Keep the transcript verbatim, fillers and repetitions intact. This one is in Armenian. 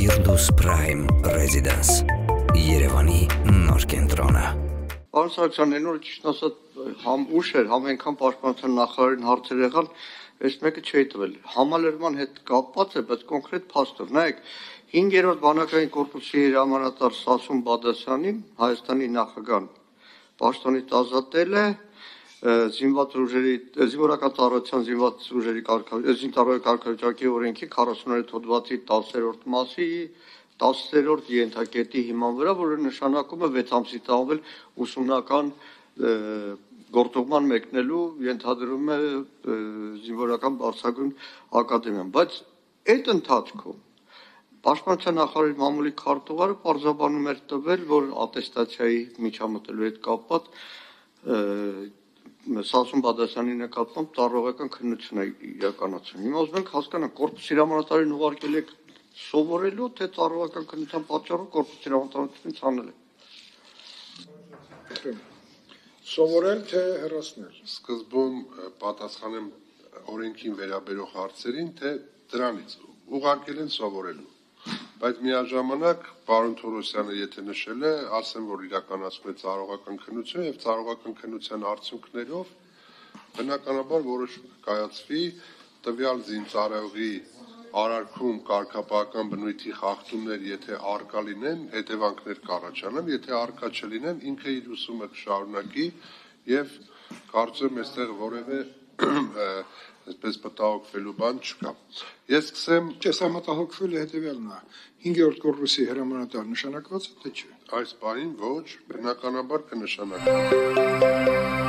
Firdaus Prime Residence Երևանի նոր կենտրոնը։ Պարոն Սարգսյան, այնօր ճիշտ ասած համ ուշ էր, համ այնքան պաշտպանության նախարարին հարցեր եղան, այս մեկը չի տվել։ Համալրման հետ կապված է, բայց կոնկրետ փաստով, նայեք, հինգերորդ բանակային կորպուսի հրամանատար Սասուն Բադասյանին Հայաստանի նախագահան պաշտոնից ազատել է զինված ուժերի զինվորական ծառայության զինված ուժերի կարգավիճակի օրենքի քառասունութ հոդվածի տասերորդ մասի տասերորդ ենթակետի հիման վրա, որը նշանակում է վեց ամսի տանվել ուսումնական գործողման մեկնելու ենթադրում է զինվորական բարձրագույն ակադեմիան, բայց այդ ընթացքում Պաշտպանության նախարարի մամուլի քարտուղարը պարզաբանում էր տվել, որ ատեստացիայի միջամտելու հետ կապված Սասուն Բադասյանի նկատմամբ ծառայողական քննություն է իրականացնում։ Հիմա ուզում ենք հասկանանք, կորպուսի հրամանատարին ուղարկել եք սովորելու, թե ծառայողական քննության պատճառով կորպուսի հրամանատարությունից հանել է։ Սովորել, թե հեռացնել։ Սկզբում պատասխանեմ օրենքին վերաբերող հարցերին, թե դրանից ուղարկել են սովորելու։ Բայց միաժամանակ պարոն Թորոսյանը եթե նշել է, ասեմ, որ իրականացում է ծառայողական քննություն եւ ծառայողական քննության արդյունքներով բնականաբար որոշում կայացվի տվյալ զինծառայողի արարքում կարգապահական բնույթի խախտումներ, եթե արկա լինեն, հետևանքներ կառաջանան, եթե արկա չլինեն, ինքը իր ուսումը կշարունակի եւ կարծում եմ այստեղ որևէ այսպես մտահոգվելու բան չկա։ Ես սկսեմ, չէ, սա մտահոգվելը հետեւյալն է։ հինգերորդ կորպուսի հրամանատար նշանակված է, թե չէ։ Այս բանին ոչ, բնականաբար կնշանակվի։